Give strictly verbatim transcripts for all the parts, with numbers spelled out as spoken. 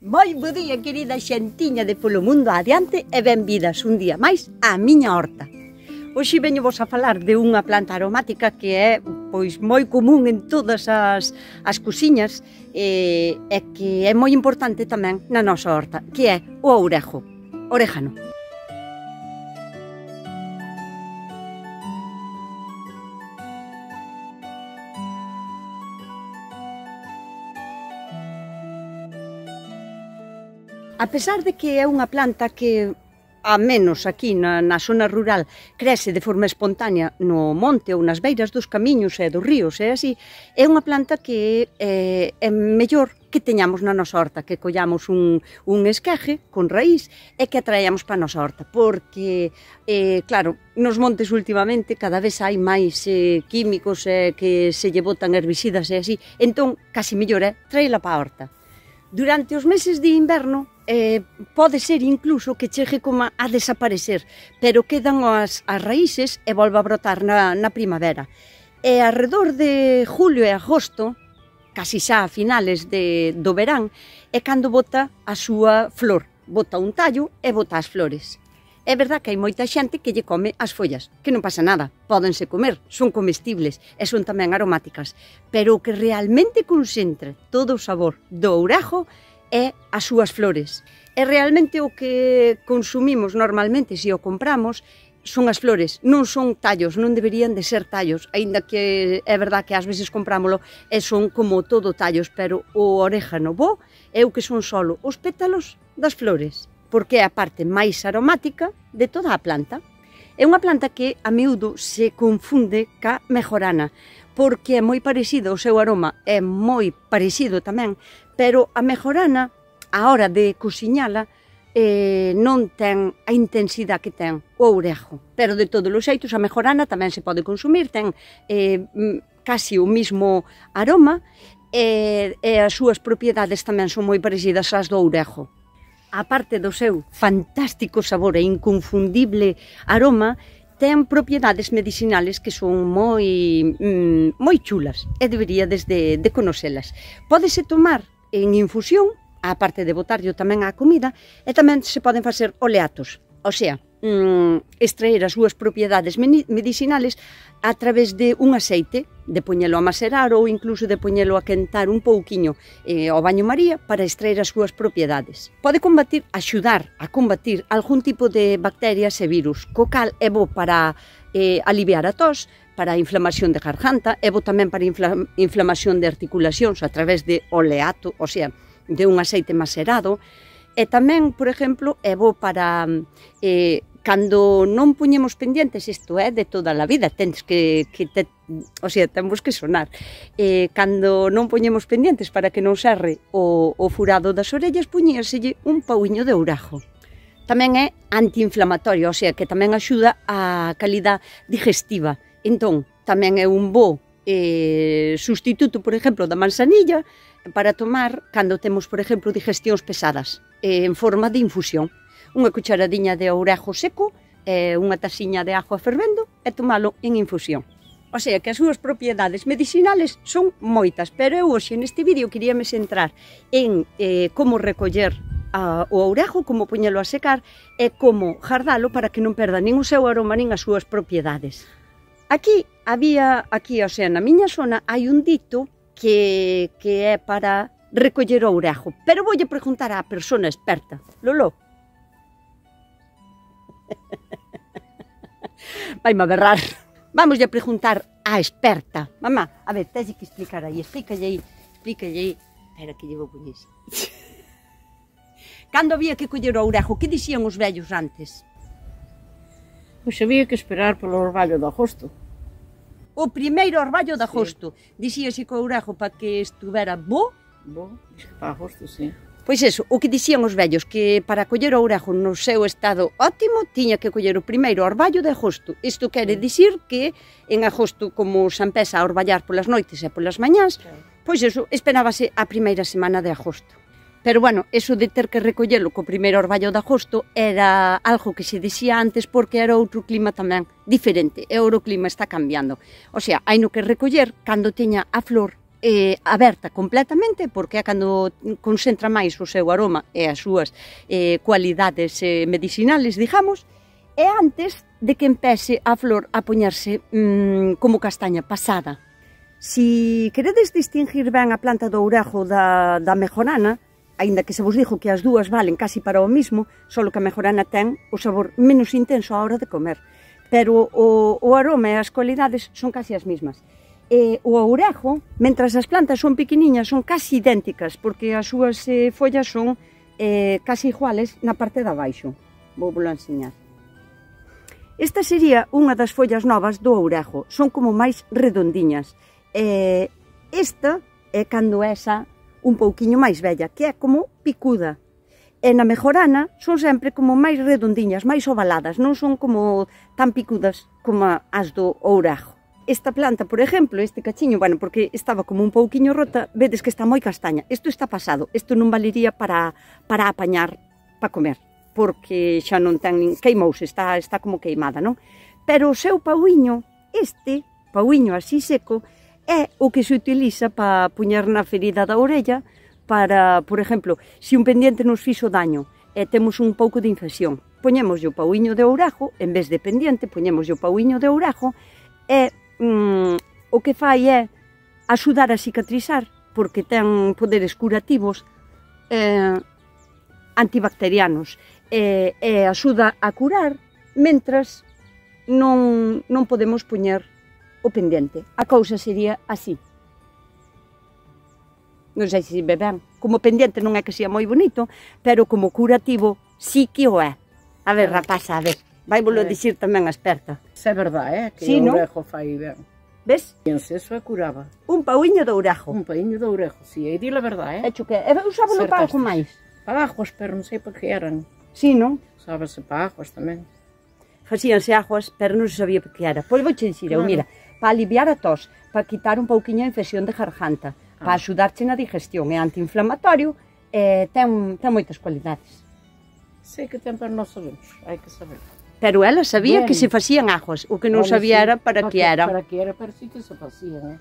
Moi bo día, querida xentiña de Polo Mundo Adiante e benvidas un día máis á miña horta. Hoxe veño vos a falar de unha planta aromática que é pois moi común en todas as, as cociñas e, e que é moi importante tamén na nosa horta, que é o ourejo, orégano. A pesar de que é unha planta que, a menos aquí na, na zona rural, crece de forma espontánea no monte ou nas beiras dos camiños e dos ríos, e así, é unha planta que é, é mellor que teñamos na nosa horta, que collamos un, un esqueje con raíz e que atraíamos para a nosa horta, porque, eh, claro, nos montes últimamente cada vez hai máis eh, químicos eh, que se lle botan herbicidas e así, entón, casi mellor é traela para a horta. Durante os meses de inverno, eh, pode ser incluso que chegue como a desaparecer, pero quedan as, as raíces e volve a brotar na, na primavera. E alrededor de julio e agosto, casi xa a finales de, do verán, é cando bota a súa flor, bota un tallo e bota as flores. É verdad que hai moita xente que lle come as follas, que non pasa nada, pódense comer, son comestibles e son tamén aromáticas, pero o que realmente concentra todo o sabor do ourejo é as súas flores. E realmente o que consumimos normalmente, se o compramos, son as flores, non son tallos, non deberían de ser tallos, aínda que é verdad que ás veces comprámolo e son como todo tallos, pero o orégano bo é o que son solo os pétalos das flores, porque é a parte máis aromática de toda a planta. É unha planta que a miúdo se confunde ca mejorana, porque é moi parecido, o seu aroma é moi parecido tamén, pero a mejorana, a hora de cociñala, eh, non ten a intensidade que ten o ourejo. Pero de todos os xeitos, a mejorana tamén se pode consumir, ten eh, casi o mismo aroma e, e as súas propiedades tamén son moi parecidas ás do ourejo. A parte do seu fantástico sabor e inconfundible aroma, ten propiedades medicinales que son moi, mm, moi chulas e deberíades de, de conocelas. Pódese tomar en infusión, a parte de botarlle tamén á comida, e tamén se poden facer oleatos, o sea, mm, extraer as súas propiedades medicinales a través de un aceite, de poñelo a macerar ou incluso de poñelo a quentar un pouquiño eh, ao baño María para extraer as súas propiedades. Pode combatir, axudar a combatir algún tipo de bacterias e virus, co cal é bo para eh, aliviar a tos, para a inflamación de garganta, é bo tamén para infla, inflamación de articulacións a través de oleato, o sea, de un aceite macerado, e tamén, por exemplo, é bo para eh, cando non puñemos pendientes, isto é de toda a vida, tens que, que te, o sea, temos que sonar, eh, cando non puñemos pendientes para que non serre o, o furado das orellas, puñíaselle un pauiño de ourejo. Tamén é antiinflamatorio, o sea, que tamén axuda a calidad digestiva. Entón, tamén é un bo eh, sustituto, por exemplo, da manzanilla, para tomar cando temos, por exemplo, digestións pesadas, eh, en forma de infusión. Unha cucharadiña de ourejo seco, eh, unha taxiña de agua fervendo e tomalo en infusión. O sea que as súas propiedades medicinales son moitas, pero eu hoxe neste vídeo queríame centrar en eh, como recoller a, o ourejo, como poñelo a secar e como jardalo para que non perda nin o seu aroma nin as súas propiedades. Aquí había, aquí, o sea, na miña zona hai un dito que, que é para recoller o ourejo, pero voulle preguntar á persona experta. Lolo, vaime a berrar. Vamos a preguntar á experta. Mamá, a ver, tens que explicar aí, explícalle aí, explícalle aí. Espera que llevo con iso. Cando había que coller o ourejo, que dixían os vellos antes? Pois había que esperar polo orballo de agosto. O primeiro orballo de agosto. Sí. Dixíase que o ourejo para que estuvera bo. Bo, para agosto, sí. Pois eso, o que dixían os vellos, que para coller o ourejo no seu estado ótimo, tiña que coller o primeiro orballo de agosto. Isto quere dicir que en agosto, como se empeza a orballar polas noites e polas mañás, claro, pois eso, esperábase a primeira semana de agosto. Pero bueno, eso de ter que recollelo co primeiro orballo de agosto era algo que se dixía antes porque era outro clima tamén diferente, e o clima está cambiando. O sea, hai no que recoller cando teña a flor eh, aberta completamente, porque é cando concentra máis o seu aroma e as súas eh, cualidades eh, medicinales, digamos, e antes de que empece a flor a poñerse mmm, como castaña pasada. Si queredes distinguir ben a planta do ourejo da, da mejorana, aínda que se vos dixo que as dúas valen casi para o mismo, só que a mejorana ten o sabor menos intenso á hora de comer, pero o, o aroma e as cualidades son casi as mismas. E o ourejo, mentras as plantas son pequeniñas, son casi idénticas, porque as súas eh, follas son eh, casi iguales na parte de abaixo. Vou vos enseñar. Esta sería unha das follas novas do ourejo, son como máis redondiñas. E esta é cando esa un pouquiño máis bella, que é como picuda. E na mejorana son sempre como máis redondiñas, máis ovaladas, non son como tan picudas como as do ourejo. Esta planta, por exemplo, este cachiño, bueno, porque estaba como un pouquiño rota, vedes que está moi castaña. Isto está pasado, isto non valería para, para apañar, para comer, porque xa non ten, queimouse, está, está como queimada, non? Pero o seu pauiño, este pauiño así seco, é o que se utiliza para puñer na ferida da orella para, por exemplo, se un pendiente nos fixo daño e temos un pouco de infección, poñemos o pauiño de ourejo, en vez de pendiente, poñemos o pauiño de ourejo e mm, o que fai é axudar a cicatrizar, porque ten poderes curativos eh, antibacterianos e, e axuda a curar mentras non, non podemos poñer o pendente. A cousa sería así. Non sei se ve ben. Como pendente non é que sea moi bonito, pero como curativo sí que o é. A ver, rapaza, a ver. Vai volo dicir tamén a experta. Se é verdade, eh? Que sí, o non? ourejo fai ben. Ves? Penso, eso é curaba. Un pauiño de ourejo. Un pauiño de ourejo, si, sí, e di la verdade, eh? Hecho que, e usábalo para algo máis. Para aguas, pero non sei por que eran. Sí, non? Sábase para aguas tamén. Facíanse aguas, pero non se sabía por que era. Pois vou che dicir, claro. Eu, mira, para aliviar a tos, para quitar un pouquiño a infección de garganta, ah. para axudarche na digestión, é antiinflamatorio, e ten, ten moitas cualidades. Sei que ten, pero non sabemos, hai que saber. Pero ela sabía bien. Que se facían aguas, o que non bueno, sabía sí, era para que era. Para que era, pero sí que se facían, eh?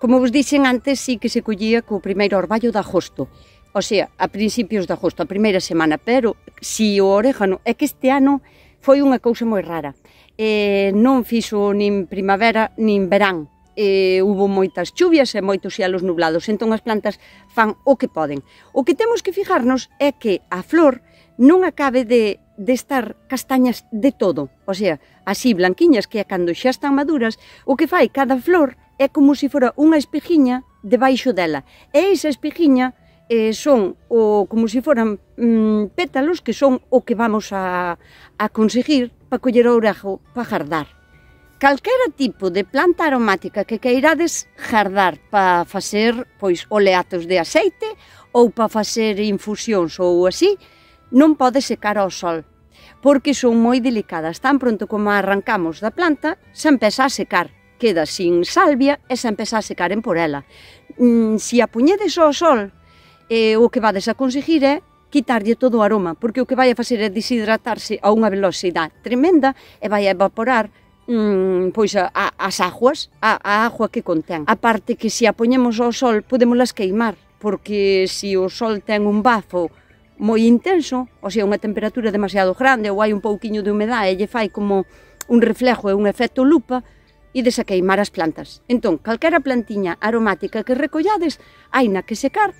Como vos dixen antes, sí que se collía co primeiro orballo de agosto, o sea, a principios de agosto, a primeira semana, pero si o orégano, é que este ano foi unha cousa moi rara. Eh, non fixo nin primavera nin verán. Eh, hubo moitas chuvias e moitos xelos nublados, entón as plantas fan o que poden. O que temos que fijarnos é que a flor non acabe de, de estar castañas de todo, o sea, así blanquiñas, que é cando xa están maduras, o que fai cada flor é como se fora unha espejiña debaixo dela, e esa espejiña eh, son o, como se foran mm, pétalos que son o que vamos a, a conseguir para coller o ourejo para jardar. Calquera tipo de planta aromática que queirades jardar para facer pois oleatos de aceite ou para facer infusións ou así, non pode secar ao sol, porque son moi delicadas. Tan pronto como arrancamos da planta, se empeza a secar, queda sin salvia e se empeza a secar en por ela. Mm, si a puñedes ao sol, eh, o que vades a conseguir é quitarlle todo o aroma, porque o que vai a facer é deshidratarse a unha velocidade tremenda e vai a evaporar mm, pois a, a, as aguas, a, a agua que contén. A parte que se a poñemos ao sol podémolas queimar, porque se o sol ten un bafo moi intenso, ou sea, unha temperatura demasiado grande ou hai un pouquiño de humedade e lle fai como un reflejo e un efecto lupa, ides a queimar as plantas. Entón, calquera plantiña aromática que recollades, hai na que secar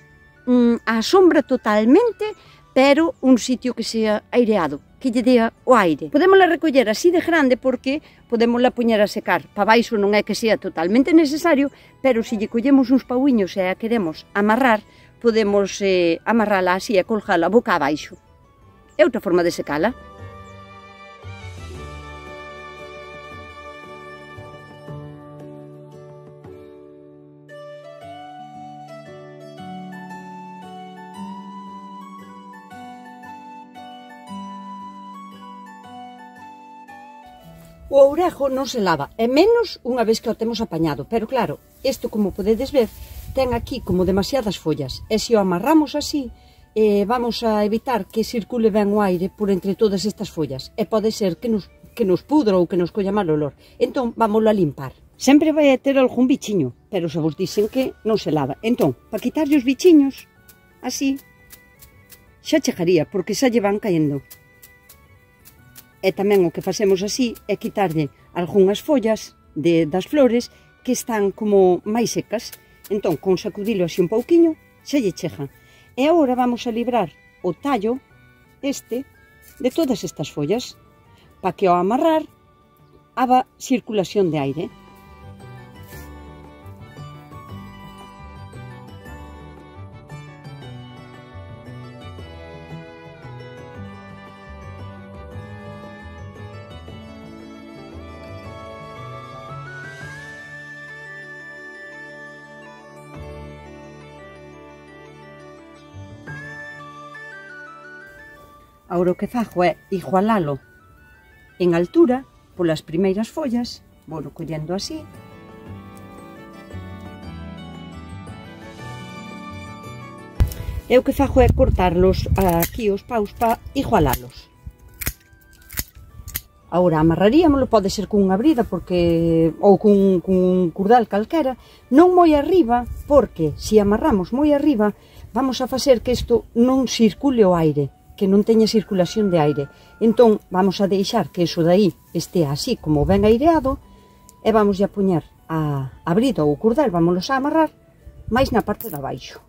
mm, a sombra totalmente, pero un sitio que sea aireado, que lle dea o aire. Podémola recoller así de grande porque podémola poñer a secar. Pa baixo non é que sea totalmente necesario, pero se lle collemos uns pauiños e a queremos amarrar, podemos eh, amarrala así e colgala boca abaixo. É outra forma de secala. O ourejo non se lava, e menos unha vez que o temos apañado, pero claro, isto como podedes ver, ten aquí como demasiadas follas, e se o amarramos así, eh, vamos a evitar que circule ben o aire por entre todas estas follas, e pode ser que nos, que nos pudra ou que nos colla mal olor. Entón, vámoslo a limpar. sempre vai a ter algún bichiño, pero xa vos dixen que non se lava. Entón, para quitarlle os bichiños, así, xa chegaría, porque xa lle van caendo. E tamén o que facemos así é quitarlle algunhas follas de, das flores que están como máis secas. Entón, con sacudilo así un pouquiño, xa lle chega. E agora vamos a librar o tallo este de todas estas follas, para que ao amarrar haga circulación de aire. Agora o que fago é igualalo en altura polas primeiras follas, vou collendo así. E o que fago é cortarlos aquí os paus para igualalos. Agora amarraríamolo, pode ser cunha brida porque ou cun, cun curdal calquera, non moi arriba, porque se amarramos moi arriba vamos a facer que isto non circule o aire, que non teña circulación de aire. Entón, vamos a deixar que iso daí estea así como ben aireado e vamos a poñer a, a brida ou o curdal, vámonos a amarrar máis na parte de abaixo.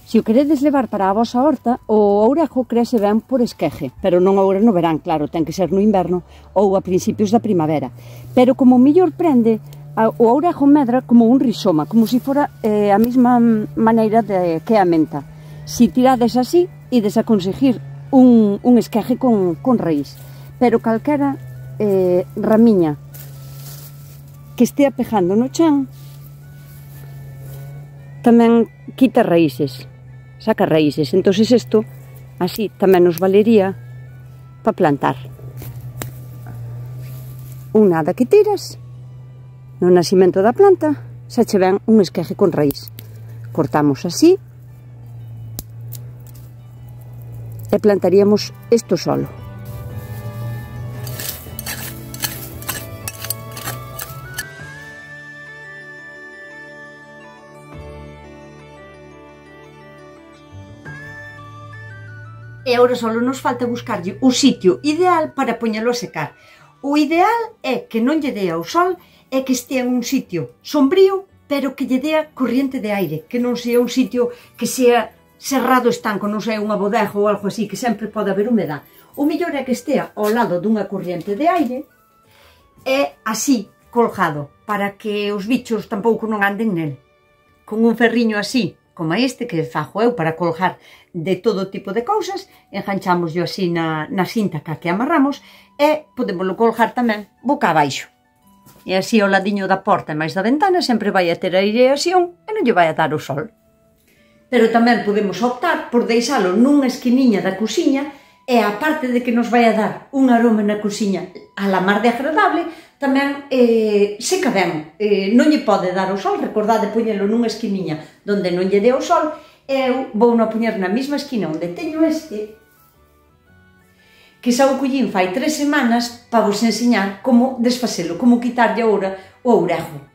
Se o queredes levar para a vosa horta, o ourejo crece ben por esqueje, pero non agora no verán, claro, ten que ser no inverno ou a principios da primavera. Pero como mellor prende, o ourejo medra como un rizoma, como se fora eh, a mesma maneira de, que a menta. Se tirades así, ides a conseguir un, un esqueje con, con raíz. Pero calquera eh, ramiña que estea pejando no chan tamén quita raíces, saca raíces. Entón isto así tamén nos valería para plantar. Un nada que tiras no nacimento da planta, xa che ven un esqueje con raíz. Cortamos así e plantaríamos isto solo. E agora só nos falta buscarlle o sitio ideal para poñelo a secar. O ideal é que non lle dea o sol e que estea en un sitio sombrío, pero que lle dea corriente de aire, que non sea un sitio que sea cerrado estanco, non sea unha bodega ou algo así, que sempre pode haber humedad. O mellor é que estea ao lado dunha corriente de aire e así colgado, para que os bichos tampouco non anden nel. Con un ferriño así, como este que fago eu para colgar de todo tipo de cousas, enganchámoslo así na, na cinta ca que amarramos e podémoslo colgar tamén boca abaixo. E así ao ladiño da porta e máis da ventana sempre vai a ter aireación e non lle vai a dar o sol. Pero tamén podemos optar por deixalo nunha esquiniña da cociña e aparte de que nos vai a dar un aroma na cociña a la mar de agradable, tamén eh, seca ben. Eh, non lle pode dar o sol, recordade poñelo nunha esquiniña donde non lle dé o sol, e eu vou a poñer na mesma esquina onde teño este, que xa o collín fai tres semanas para vos enseñar como desfacelo, como quitarlle agora o ourejo.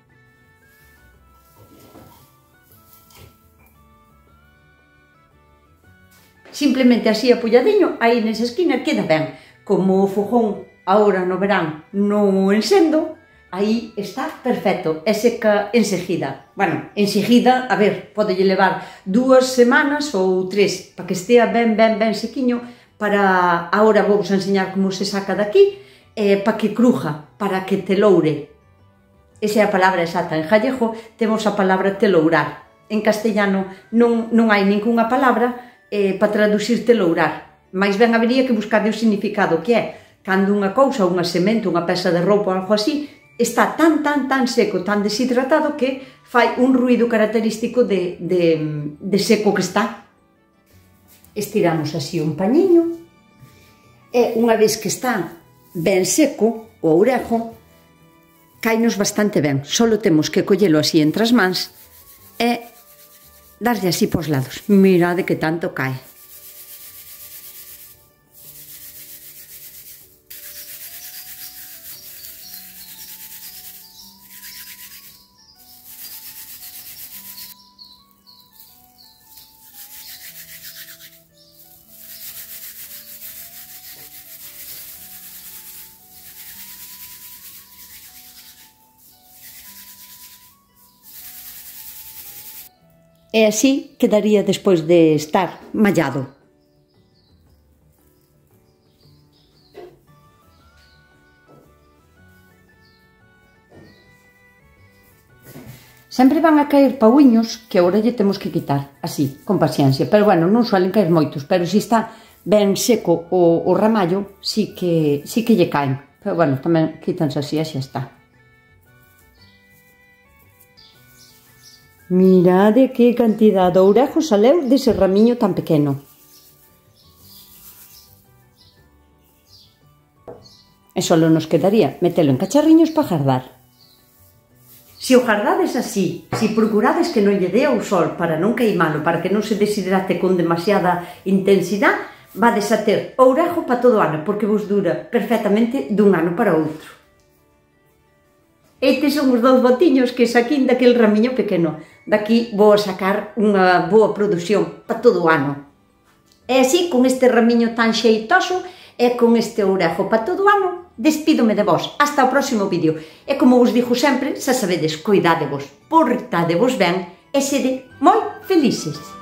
Simplemente así apoiadiño, aí nesa esquina queda ben. Como o fogón agora no verán non encendo, aí está perfecto, é seca enseguida. Bueno, enseguida, a ver, podelle levar dúas semanas ou tres, para que estea ben, ben, ben sequiño, para, agora vou vos enseñar como se saca daqui, eh, para que cruja, para que teloure. Esa é a palabra exacta. En gallego temos a palabra telourar. En castellano non, non hai ninguna palabra eh, para traducir telourar. Mais ben habería que buscar o significado, que é cando unha cousa, unha semente, unha peza de roupa ou algo así, está tan, tan, tan seco, tan deshidratado que fai un ruído característico de, de, de seco que está. Estiramos así un pañiño e unha vez que está ben seco o ourejo, cainos bastante ben. Solo temos que collelo así entre as mans e darlle así pos lados. Mirade que tanto cae. E así quedaría despois de estar mallado. Sempre van a caer pauiños que agora lle temos que quitar, así, con paciencia. Pero bueno, non suelen caer moitos, pero se está ben seco o, o ramallo, sí que, sí que lle caen. Pero bueno, tamén quítanse así e xa está. Mirade que cantidad de ourejo saleu dese ramiño tan pequeno. E só nos quedaría metelo en cacharriños para gardar. Se o gardades así, se procurades que non lle dé ao sol para non queimalo, para que non se deshidrate con demasiada intensidade, vades a ter ourejo para todo o ano, porque vos dura perfectamente dun ano para outro. Estes son os dous botiños que saquín daquele ramiño pequeno. Daqui vou a sacar unha boa produción para todo o ano. E así, con este ramiño tan xeitoso e con este ourejo para todo o ano, despídome de vos. Hasta o próximo vídeo. E como vos digo sempre, xa sabedes, cuidádevos, portádevos ben e sede moi felices.